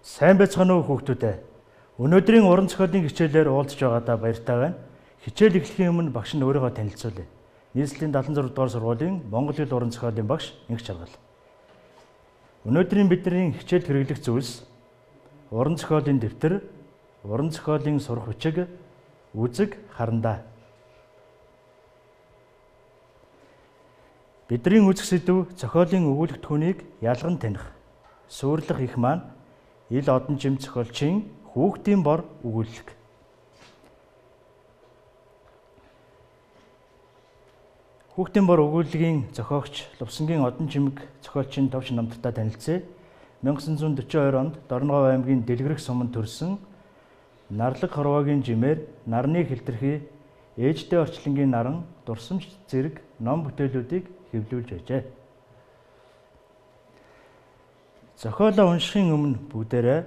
Сайн байцгаана уу хүүхдүүдээ. Өнөөдрийн уран зохиолын хичээлээр уулзж байгаадаа баяртай байна. Хичээл эхлэхийн өмнө багш нь өөрийгөө танилцуулъя. Нийслэлийн 76 дугаар сургуулийн Монгол хэл уран зохиолын багш Инх Чаргал. Өнөөдрийн бидний хичээлд хэрэглэх зүйлс уран зохиолын дэвтэр, уран зохиолын сурах бичиг, үзэг, харандаа. Бидний үзэх сэдэв зохиолын өгүүлэх түүнийг ялган таних. Сүйрлэх их маань ил одон жим зохиолчийн хүүхдийн бор өгүүлэлт. Хүүхдийн бор өгүүлэлгийн зохиогч Лувсангийн одон жимэг зохиолчийн товч намттай танилцъя. 1942 онд Дорногов аймгийн Дэлгэрэх суманд төрсөн Нарлаг хорвоогийн жимээр нарны хилтерхий, ээжтэй орчлонгийн наран, дурсамж зэрэг ном бүтээлүүдийг хэвлүүлж байжээ. Зохиолоо уншихын өмнө бүгдээрээ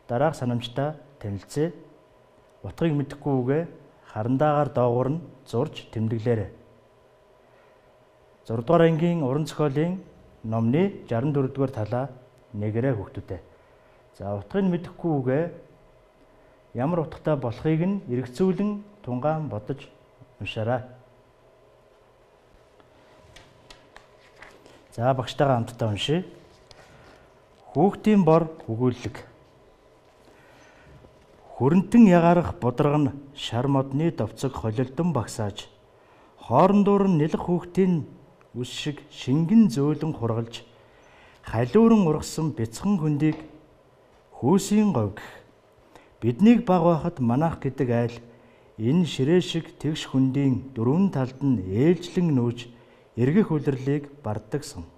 дараах санамжтай танилцъя. Утгыг мэдэхгүй үгээ харандаагаар доогуур нь зурж тэмдэглээрэй. 6 дугаар ангийн уран зохиолын номны 64 дугаар талаа нэгээрэй хүүхдүүдээ. За утгыг мэдэхгүй үгээ ямар утгатай болохыг нь эргэцүүлэн тунгаан бодож уншаарай. За багштайгаа хамтдаа уншия. Хүүхдийн бор өгүүлэлт. Хүрэнтэн ягарах будрагна шар модны довцог холилдон багсааж, хоорондоор нь нэлэх хүүхдийн үс шиг шингэн зөөлөн хургалж, халиуран ургасан бяцхан хөндийг хүйсийн говь гэх. Биднийг баг байхад манайх гэдэг айл энэ ширээ шиг тэгш хөндийн дөрвөн талд нь ээлжлэн нүүж эргэх үлрэлийг бардагсан.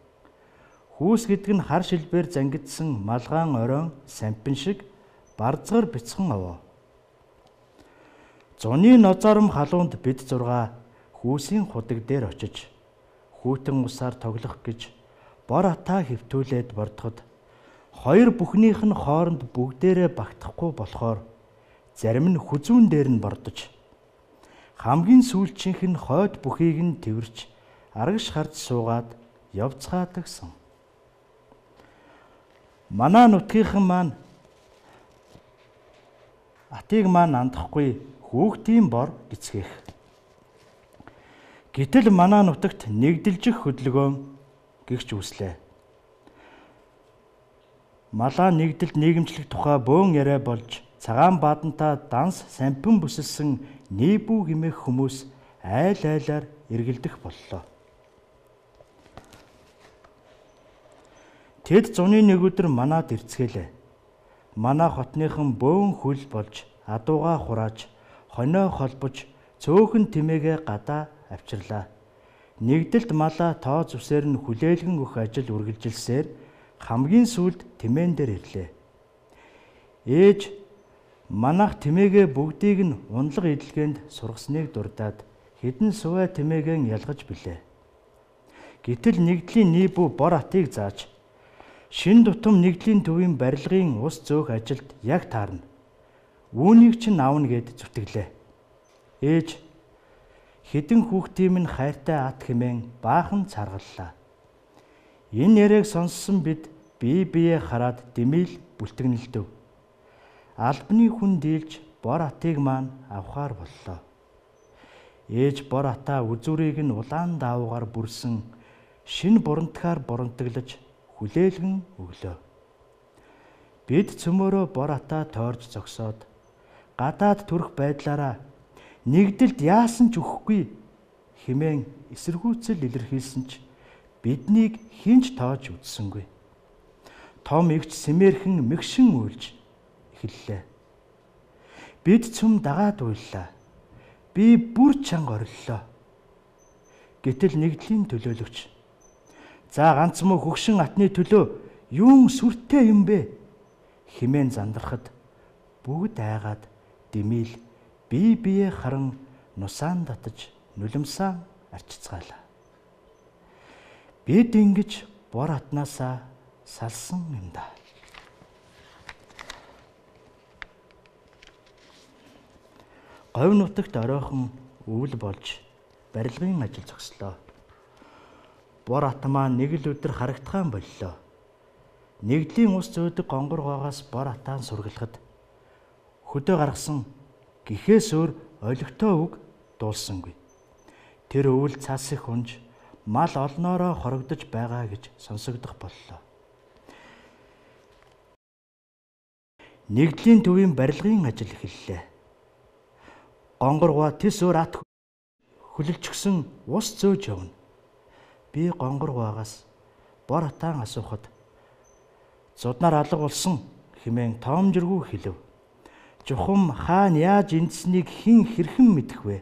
Хүүс гэдэг нь хар шилбээр зангидсан малгаан оройн сампин шиг барзгар бяцхан овоо. Зуны нозоором халуунд бид зургаа хүүсийн худаг дээр очиж хүүтэн усаар тоглох гэж бор атаа хэвтүүлээд бордоход хоёр бүхнийх нь хооронд бүгдээрээ багтахгүй болохоор зарим нь хүзүүн дээр нь бордож хамгийн сүүлчийнх нь хойд бүхийг нь тэрвэрч арагш харж суугаад явцгаадагсан. Манай нутгийнхан маань атыг маань андахгүй хүүхдийн бор гэцгээх. Гэтэл манай нутагт нэгдэлжих хөдөлгөөн гихч үслээ. Малаа нэгдэлд нийгэмчлэх тухай бөөн яриа болж цагаан баданта данс сампин бүсэлсэн нээбүү гимэх хүмүүс айл айлаар эргэлдэх боллоо. Тэд зуны нэг өдөр манад ирцгээлээ. Манай хотныхан бөөн хүл болж, адуугаа хурааж, хонио холбож, цөөхөн тэмээгээ гадаа авчирлаа. Нэгдэлт малаа тоо зүсээр нь хүлээлгэн өгөх ажил үргэлжилсээр хамгийн сүүлд тэмээн дээр ирлээ. Ээж манайх тэмээгээ бүгдийг нь унлаг эдлгээнд сургасныг дурдаад хэдэн сувай тэмээгээ ялгаж билээ. Гэтэл нэгдлийн нийбүү бор атыг зааж шин тутам нэгдлийн төвийн барилгын ус зөөх ажилд яг таарна. Үүнийг чинь аавна гэд зүтгэлээ. Ээж хэдэн хүүхдийн минь хайртай ат хэмээн баахан царгаллаа. Энэ яриаг сонссон бид бие бие хараад дэмийл бүлтгэнэлдэв. Албаны хүн дийлж бор атыг маань авахаар боллоо. Ээж бор атаа үзүүрийг нь улаан даавуугаар бүрсэн шин бурантгаар бурантаглаж хүлээлгэн өглөө. Бид цөмөөрөө бор атаа тойрж зогсоод гадаад төрөх байдлаараа нэгдэлд яасан ч өгөхгүй хэмээн эсэргүүцэл илэрхийлсэн ч биднийг хинч тоож үзсэнгүй. Том эгч сэмээрхэн мэгшин уйлж эхэллээ. Бид цөм дагаад уйллаа. Би бүр чанга ориллоо. Гэтэл нэгдлийн төлөөлөгч за ганц муу хөгшин атны төлөө юун сүртэй юм бэ хэмээн зандрахад бүгд айгаад дэмийл бие бие харан нусаан татаж нулимсаа арчицгаалаа. Бид ингэж бор атнаасаа салсан юм да. Говь нутагт оройхон өвөл болж барилгын ажил зогслоо. Бор ат маань нэг л өдөр харагдахаан боллоо. Нэгдлийн ус зөөдөг гонгоргоогоос бор атаан сургалахад хөдөө гаргасан гэхээс өөр олигтой үг дуулсангүй. Тэр өвөл цас их унж мал олноороо хорогдож байгаа гэж сонсогдох боллоо. Нэгдлийн төвийн барилгын ажил эхэллээ. Гонгоргоо тис өөр ат хүлэлжсэн ус зөөж явна. Би гонгоргоогоос бор атаан асуухад зуднаар алга болсон хэмээн тоомжиргүй хэлв. Чухам хаана яаж эндснийг хэн хэрхэн мэдэх вэ?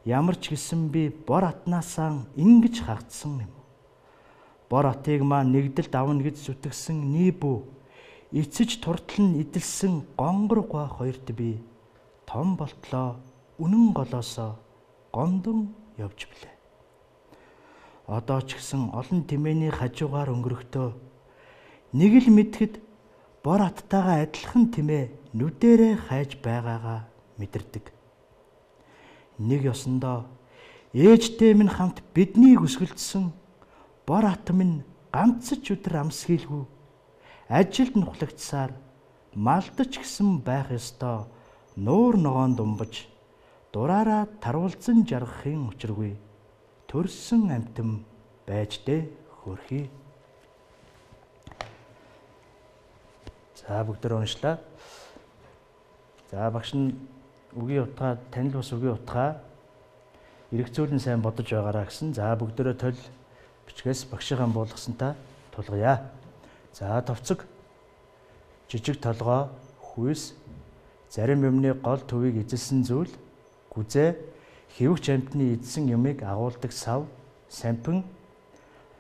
Ямар ч гэсэн би бор атнаасаа ингэж хагдсан юм. Бор атыг маань нэгдэлд авна гэж зүтгэсэн Нибү эцэж туртал нь идэлсэн гонгоргоо хоёрт би том болтлоо үнэн голоосоо гомдон явж билээ. Одоо ч гэсэн олон тэмээний хажуугаар өнгөрөхдөө нэг л мэдхэд бор аттайгаа адилхан тэмээ нүдэрээ хайж байгаагаа мэдэрдэг. Нэг ёсондоо ээжтэй минь хамт биднийг өсгөлдсөн бор ат минь ганц ч өдөр амсхийлгүй ажилд нухлагцсаар малдаж гисэн байх ёстой нуур ногоон думбаж дураараа таруулзан жаргахын учиргүй төрсөн амтэн байж дээ хөрхий. За бүгдээр уншлаа. За багш нь үгийн утгаа танил бас үгийн утгаа эргцүүлэн сайн бодож байгаараа гэсэн. За бүгдээрээ тол бичгээс багшийн буулгасантаа тулгая. За товцог жижиг толгой хүйс зарим юмны гол төвийг эзэлсэн зүйл гүзээ хэвэгч амтны эзсэн юмыг агуулдаг сав сампин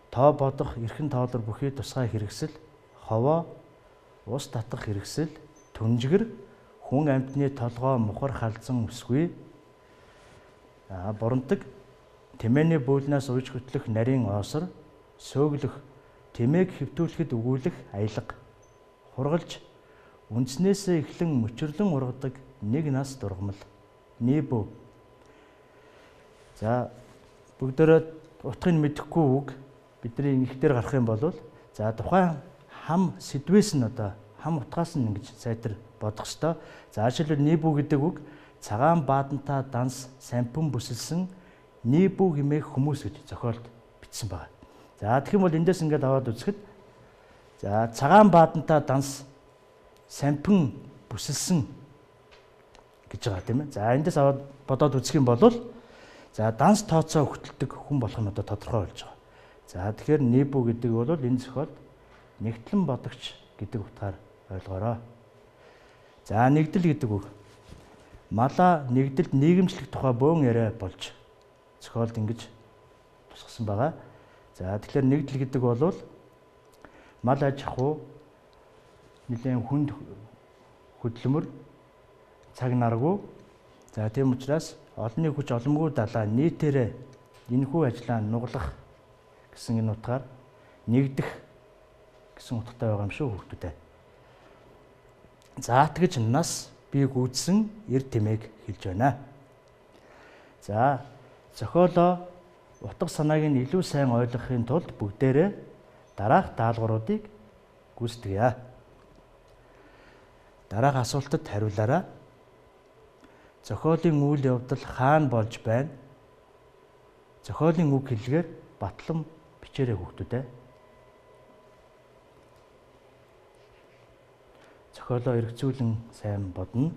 тоо бодох эрхэн тоолор бүхий тусгай хэрэгсэл ховоо ус татах хэрэгсэл түнжгэр хүн амтны толгой мухар халзан өсгүй бурандаг тэмээний бөөлнөөс ууж хөтлөх нарийн оосор сөөгөлөх тэмээг хэвтүүлэхэд өгүүлэх аялга хургалж үндснээсээ эхлэн мөчрлөн ургадаг нэг нас дургамал Нибү. За бүгдээрээ утгыг мэдэхгүй үг бидний их дээр гарах юм бол за тухайн хам сэдвээс нь одоо хам утгаас нь ингэж сайтар бодох ёстой. За жишээлбэл Нибү гэдэг үг цагаан баадантаа данс сампин бүсэлсэн Нибү хэмээх хүмүүс гэж зохиолд бичсэн байна. За тэгэх юм бол эндээс ингээд аваад үзэхэд за цагаан баадантаа данс сампин бүсэлсэн гэж байгаа тийм ээ. За эндээс аваад бодоод үзэх юм бол за данс тооцоо хөтэлдэг хүн болох нь одоо тодорхой болж байгаа. За тэгэхээр Нибү гэдэг бол энэ зохиолд нэгтлэн бодогч гэдэг утгаар ойлгоорой. За нэгдэл гэдэг үг мала нэгдэлд нийгэмчлэх тухай бөөн яриа болж зохиолд ингэж тусгасан байгаа. За тэгэхээр нэгдэл гэдэг бол мал аж ахуй нэлээд хүнд хөдөлмөр цаг наргүй. За тийм учраас олонний хүч оломгүй далаа нийтээрээ энэхүү ажлаа нуглах гэсэн энэ утгаар нэгдэх гэсэн утгатай байгаа юм шүү хүүхдүүдээ. За тэгж нас би гүйдсэн эр тэмээг хэлж байна. За зохиолоо утга санааг нь илүү сайн ойлгохын тулд бүгдээрээ дараах даалгавруудыг гүйцэтгэе. Дараах асуултад хариулаарай. Зохиолын үйл явдал хаана болж байна? Зохиолын үг хэллэгээр батлан бичээрэй хүүхдүүдээ. Зохиолоо эргцүүлэн сайн бодно.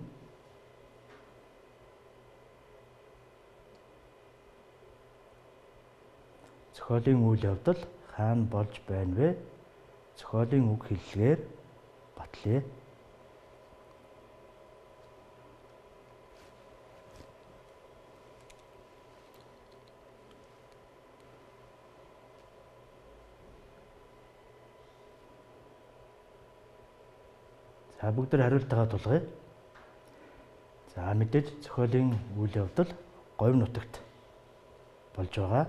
Зохиолын үйл явдал хаана болж байна вэ? Зохиолын үг хэллэгээр батлая. За бүгдээр хариултаа тулгая. За мэдээж зохиолын үйл явдал говь нутагт болж байгаа.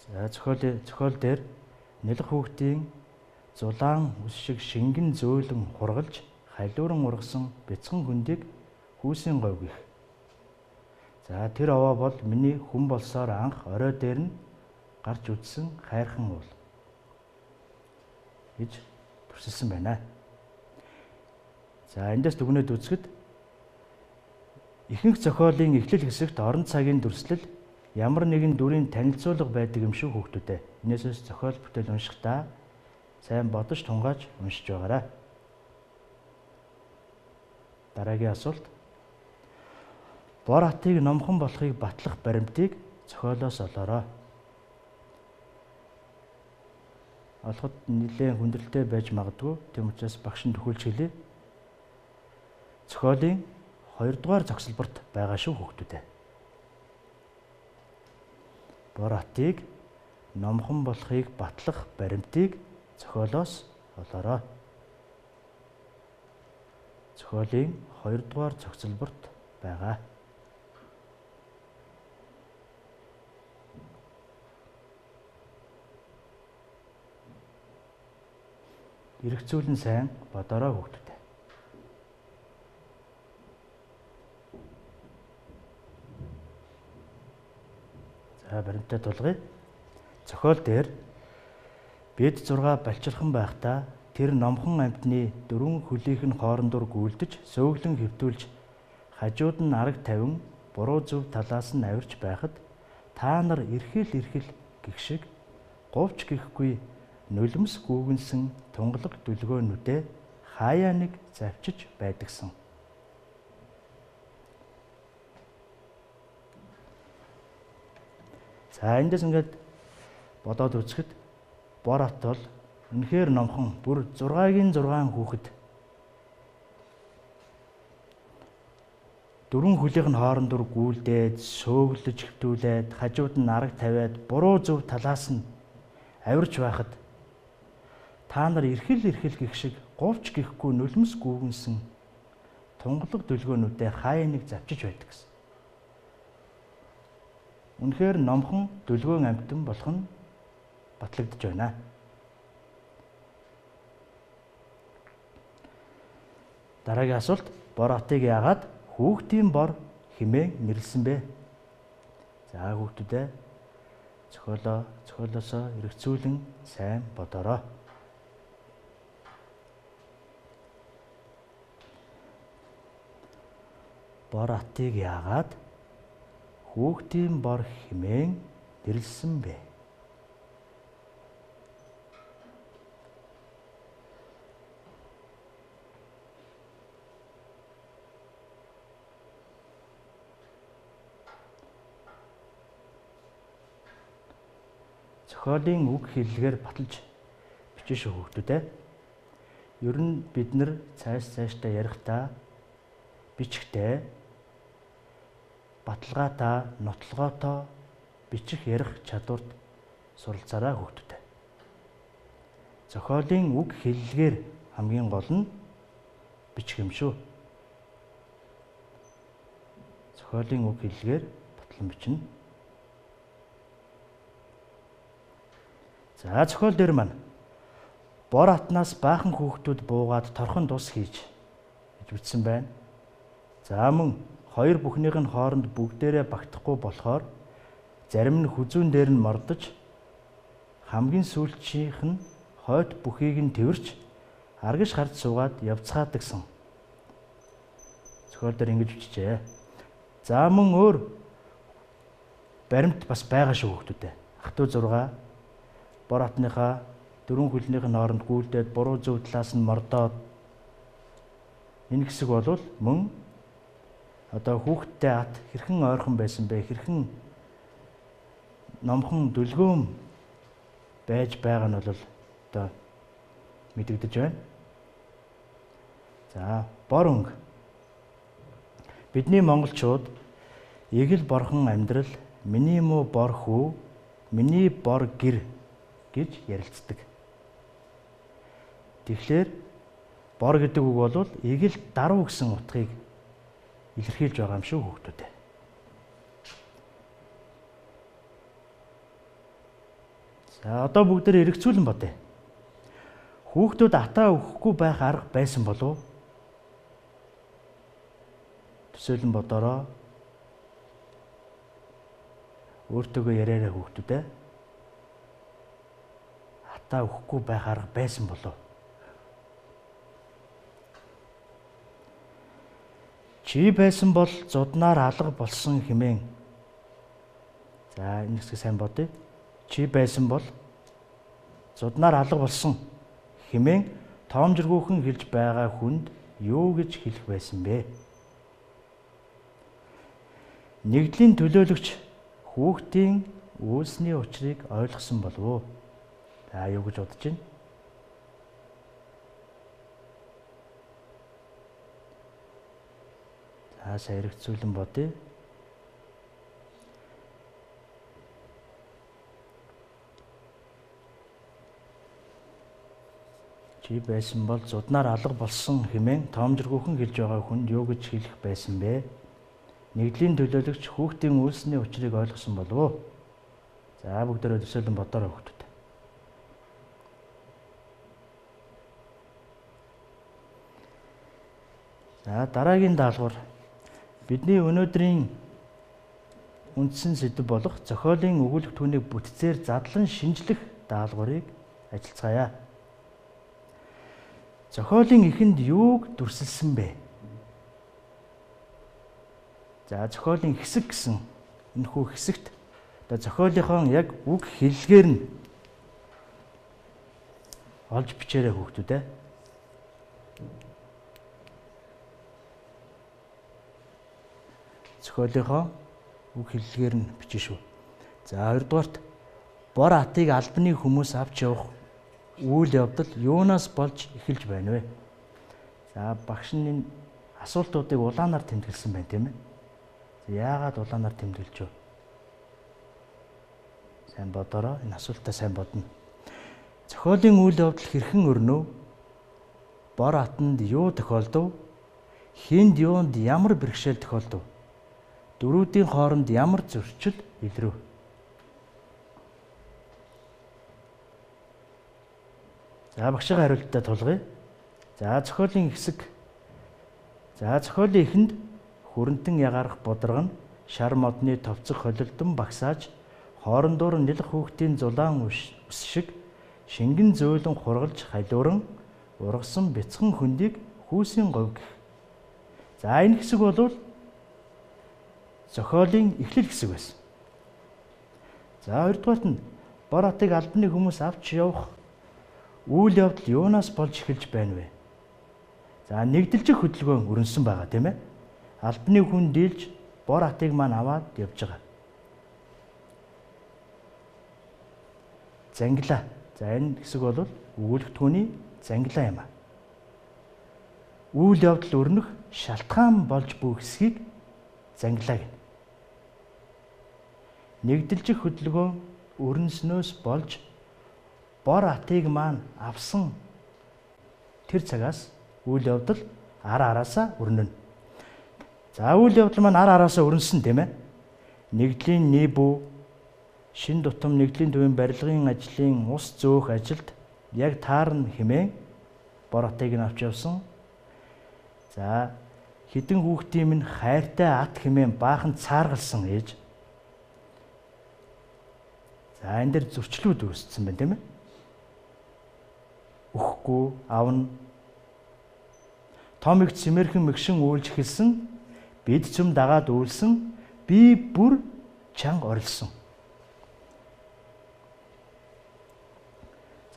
За зохиол дээр нэлэх хүүхдийн зулаан ус шиг шингэн зөөлөн хургалж халиуран ургасан бяцхан хөндийг хүүсийн говь гэх. За тэр овоо бол миний хүн болсоор анх орой дээр нь гарч үдсэн хайрхан уул. гэж төрсөлсөн байна. За эндээс дүгнээд үзэхэд ихэнх зохиолын эхлэл хэсэгт орон цагийн дүрслэл ямар нэгэн дүрийн танилцуулга байдаг юм шүү хүүхдүүдээ. Инээсээс зохиол бүтээл уншихдаа сайн бодож тунгааж уншиж байгаарай. Дараагийн асуулт. Бор хатыг номхон болохыг батлах баримтыг зохиолоос олоорой. Олоход нэлээд хүндрэлтэй байж магадгүй. Тэм учраас багш нь төхөөлж хэлье. Зохиолын 2 дугаар зогсолборт байгаа шүү хүүхдүүдээ. Бор хатыг номхон болохыг батлах баримтыг зохиолоос олоорой. Зохиолын 2 дугаар зогсолборт байгаа. Эргцүүлэн сайн бодорой хүүхдүүдээ. За баримтаа тулгая. Зохиол дээр бид 6 балчирхан байхдаа тэр номхон амьтны 4 хөлийнх нь хоорондор гүйлдэж, сөүглэн хэвтүүлж, хажууд нь арга тавин, буруу зөв талаас нь авирч байхад та нар эрхэл гэх шиг говьч гэхгүй нулимс гүүгэнсэн тунгалаг дүлгөөнүүдээ хаяа нэг завчиж байдагсан. За эндээс ингээд бодоод үзэхэд бор хат бол үнэхээр номхон бүр 6-гийн 6 хүүхэд 4 хөлийнх нь хоорондор гүйлдээд, сөөглөж хэвтүүлээд, хажууд нь арга тавиад, буруу зөв талаас нь авирч байхад та нар эрхэл гэх шиг говьч гэхгүй нулимс гүүгэнсэн тунгалаг дүлгөөнүүдээ хаяа нэг завчиж байдаг гэсэн. Үнэхээр номхон дүлгөөн амьтан болох нь батлагдж байна. Дараагийн асуулт. Бор хатыг яагаад хүүхдийн бор хэмээн нэрлсэн бэ? За хүүхдүүдээ зохиолоосоо эргцүүлэн сайн бодорой. Бор хатыг яагаад хүүхдийн бор хэмээн нэрлсэн бэ? Зохиолын үг хэллэгээр баталж бичиж шүү хүүхдүүдээ. Ер нь бид нэр цаашдаа ярихдаа бичихтэй баталгаатай, нотлогоотой бичих ярих чадварт суралцаарай хүүхдүүдээ. Зохиолын үг хэллэгээр хамгийн гол нь бичих юм шүү. Зохиолын үг хэллэгээр батлан бичнэ. За зохиол дээр маань бор хатнаас баахан хүүхдүүд буугаад торхон тус хийж гэж бичсэн байна. За мөн хоёр бүхнийх нь хооронд бүгдээрээ багтахгүй болохоор зарим нь хүзүүн дээр нь мордож хамгийн сүүлчийнх нь хойд бүхийг нь тэрвэрч аргиш харж суугаад явцгаадагсан. Зохиол дээр ингэж бичжээ. За мөн өөр баримт бас байгаа шүү хүүхдүүдээ. Ах トゥ 6 бор хатныхаа 4 хөлнийх нь хооронд гүйлдээд буруу зөв талаас нь мордоод энэ хэсэг бол мөн одоо хүүхдтэй хат хэрхэн ойрхон байсан бэ? Хэрхэн номхон дүлгөөн байж байгаа нь бол одоо мэдэгдэж байна. За бор өнгө. Бидний монголчууд эгэл борхон амьдрал, миний муу бор хүү, миний бор гэр гэж ярилцдаг. Тэгэхээр бор гэдэг үг бол эгэл даруу гэсэн утгыг илэрхийлж байгаа юм шүү хүүхдүүдээ. За одоо бүгдээр эргцүүлэн бодъё. Хүүхдүүд атаа өгөхгүй байх арга байсан болов уу? Төсөөлөн бодороо. Өөртөөгөө яриараа хүүхдүүдээ. хатаа өгөхгүй байх арга байсан болов. Чи байсан бол зуднаар алга болсон хэмээн. За энэ хэсгийг сайн бодъё. Чи байсан бол зуднаар алга болсон хэмээн тоомжиргүйхэн хэлж байгаа хүнд юу гэж хэлэх байсан бэ? Нэгдлийн төлөөлөгч хүүхдийн үйлсний учрыг ойлгосон болов уу? За юу гэж бодож байна? За саяргцүүлэн бодъё. Чи байсан бол зуднаар алга болсон хэмээн тоомжиргүйхэн хэлж байгаа хүнд юу гэж хэлэх байсан бэ? Нэгдлийн төлөөлөгч хүүхдийн үйлсний учрыг ойлгосон болов уу? За бүгдээрээ төсөөлөн бодоорой хүүхдүүд. За дараагийн даалгавар бидний өнөөдрийн үндсэн сэдэв болох зохиолын өгүүлэх түүнийг бүтцээр задлан шинжлэх даалгаврыг ажилцгаая. Зохиолын эхэнд юуг дүрсэлсэн бэ? За зохиолын хэсэг гэсэн энэхүү хэсэгт одоо зохиолынхон яг үг хэллэгээр нь олж бичээрэй хүүхдүүд ээ. Зохиолынхон үг хэллэгээр нь бичнэ шүү. За хоёрдугаарт бор атыг албаны хүмүүс авч явах үйл явдал юунаас болж эхэлж байна вэ? За багш нь энэ асуултуудыг улаанаар тэмдэглэсэн байна тийм ээ. Яагаад улаанаар тэмдэглэж вэ? Сайн бодороо энэ асуултаа сайн бодно. Зохиолын үйл явдал хэрхэн өрнөв? Бор атанд юу тохиолдов? Хинд юунд ямар бэрхшээл тохиолдов? Дөрүүдийн хооронд ямар зөрчил илрв? За багшийн хариултаа тулгая. За зохиолын хэсэг. За зохиолын эхэнд хүрэнтэн ягарах бодрог нь шар модны товцох холилдон багсааж хоорондоор нэлэх хүүхдийн зулаан ус шиг шингэн зөөлөн хургалж халиуран ургасан бяцхан хөндийг хүүсийн говь гэх. За энэ хэсэг бол зохиолын эхлэл хэсэг байсан. За хоёрдугаарт нь бор атыг албаны хүмүүс авч явах үйл явдал юунаас болж эхэлж байна вэ? За нэгдэлжих хөдөлгөөн өрнөсөн байгаа тийм ээ. Албаны хүн дийлж бор атыг маань аваад явж байгаа. Зангилаа. За энэ хэсэг бол өгүүлэх түүний зангилаа юм аа. Үйл явдал өрнөх шалтгаан болж буй хэсгийг зангилаа гэнэ. Нэгдэлжих хөдөлгөөн өрнснөөс болж бор атыг маань авсан тэр цагаас үйл явдал араасаа өрнөнө. За үйл явдал маань араасаа өрнсөн тийм ээ. Нэгдлийн нийбүү шин тутам нэгдлийн төвийн барилгын ажлын ус зөөх ажилд яг таарна хэмээн бор атыг нь авч явсан. За хідэн хүүхдийн минь хайртай ат хэмээн баахан цааргалсан ээж. За энэ дэр зөрчлүүд үүссэн байна тийм ээ. Өгөхгүй авна. Том их цэмэрхэн мэгшин үйлж эхэлсэн. Бид цөм дагаад үйлсэн. Би бүр чанга орилсон.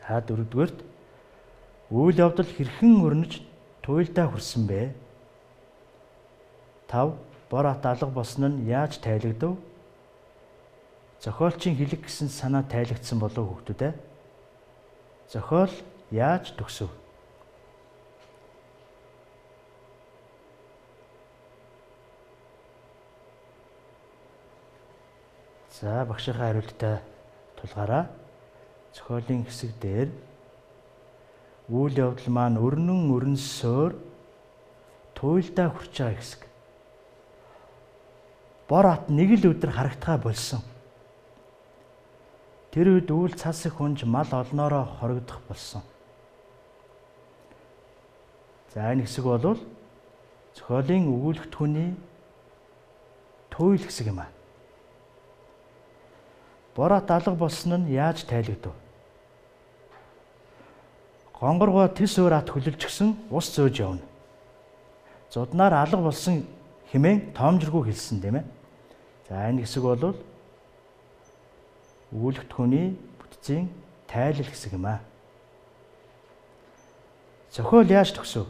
За дөрөвдүгээрт үйл явдал хэрхэн өрнөж туйлдаа хүрсэн бэ? 5. Бор ат алга болсон нь яаж тайлагдав? Зохиолчийн хэлэг гэсэн санаа тайлагдсан болов уу хүүхдүүд ээ? Зохиол яаж төгсөв? За багшийн хариултаа тулгаараа. Зохиолын хэсэг дээр үйл явдал маань өрнөсөөр туйлдаа хүрч байгаа хэсэг. Бор ат нэг л өдөр харагдхаа болсон. Тэр үед үйл цас их хүнж мал олноороо хоригдох болсон. За энэ хэсэг бол зохиолын өгүүлэх түүний туйл хэсэг юм аа. Бор ат алга болсон нь яаж тайлагдав? Гонгоргоо тис өөр ат хүлэлжсэн ус зөөж явна. Зуднаар алга болсон хэмээн тоомжиргүй хэлсэн тийм ээ. За энэ хэсэг бол Өгүүлэгт хүний бүтцийн тайлал хэсэг юм аа. Зохиол яаж төгсөв?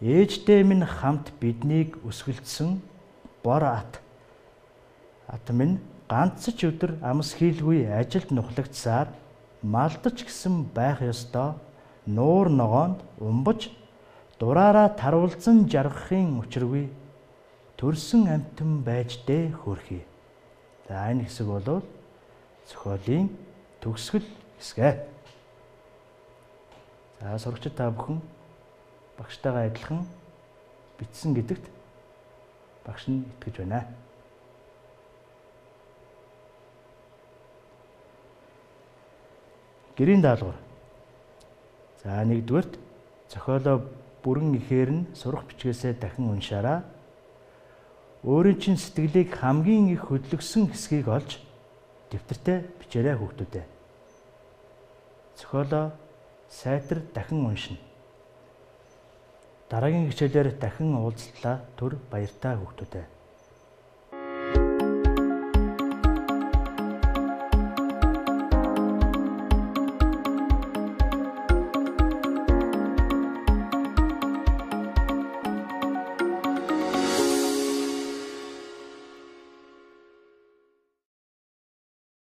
Ээжтэй минь хамт биднийг өсгөлдсөн бор ат минь ганц ч өдөр амс хийлгүй ажилд нухлагцсаар малдаж гисэн байх ёстой нуур ногоонд умбаж дураараа таруулзан жаргахын учиргүй төрсөн амтан байж дээ хөөрхий. За энэ хэсэг бол зохиолын төгсгөл хэсгэ. За сурагчид та бүхэн багштайгаа адилхан бичсэн гэдэгт багш нь итгэж байна. Гэрийн даалгавар. За нэгдүгээрт зохиолоо бүрэн ихээр нь сурах бичгээсээ дахин уншаарай. Өөрийн чинь сэтгэлийг хамгийн их хөдлөсөн хэсгийг олж дэвтэртээ бичээрэй хүүхдүүдээ. Зохиолоо сайтар дахин уншина. Дараагийн хичээлээр дахин уулзлаа. Түр баяртай хүүхдүүдээ.